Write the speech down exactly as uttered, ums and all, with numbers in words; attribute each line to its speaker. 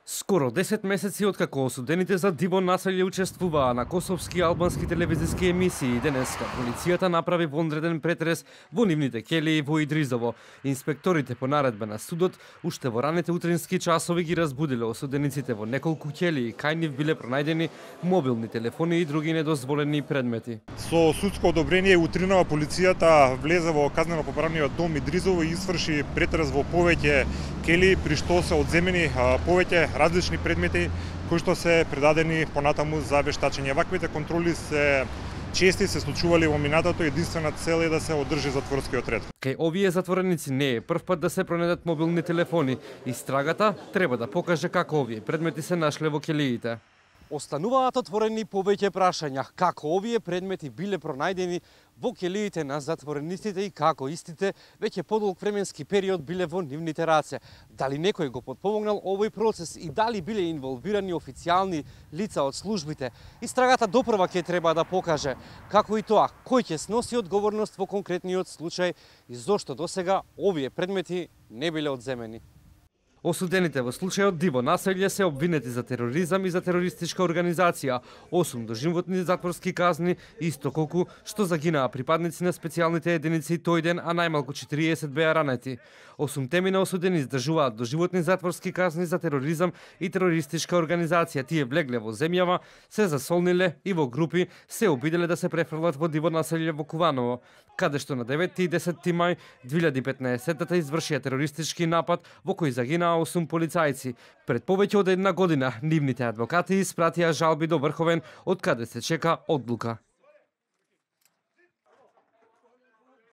Speaker 1: Скоро десет месеци откако осудените за диво населје учествуваа на косовски и албански телевизиски емисии, денеска полицијата направи вонреден претрес во нивните келии во Идризово. Инспекторите по наредба на судот уште во раните утрински часови ги разбудиле осудениците во неколку келии, кај нив биле пронајдени мобилни телефони и други недозволени предмети.
Speaker 2: Со судско одобрение утринава полицијата влезе во казнено-поправниот дом Идризово и изврши претрес во повеќе келии, при што се одземени повеќе различни предмети кои што се предадени понатаму за вештачење. Ваквите контроли се чести се случували во минатото, единствена цел е да се одржи затворскиот ред.
Speaker 1: Кај овие затвореници не е прв пат да се пронедат мобилни телефони. Истрагата треба да покаже како овие предмети се нашле во келиите. Остануваат отворени повеќе прашања како овие предмети биле пронајдени во келиите на затворениците и како истите веќе подолг временски период биле во нивните раце. Дали некој го подпомогнал овој процес и дали биле инволвирани официјални лица од службите? Истрагата допрва ќе треба да покаже како и тоа кој ќе сноси одговорност во конкретниот случај и зошто досега овие предмети не биле одземени. Осудените во случајот диво населје се обвинети за тероризам и за терористичка организација, осум доживотни затворски казни, исто колку што загинаа припадници на специјалните единици тој ден, а најмалку четириесет беа ранети. Осумте на осудени издржуваат доживотни затворски казни за тероризам и терористичка организација. Тие влегле во земјава, се засолниле и во групи се обиделе да се префрлат во диво населје во Куваново, каде што на деветти и десетти мај две илјади и петнаесетта извршија терористички напад во кој загинаа осум полицајци. Пред повеќе од една година нивните адвокати испратија жалби до Врховен, од каде се чека одлука.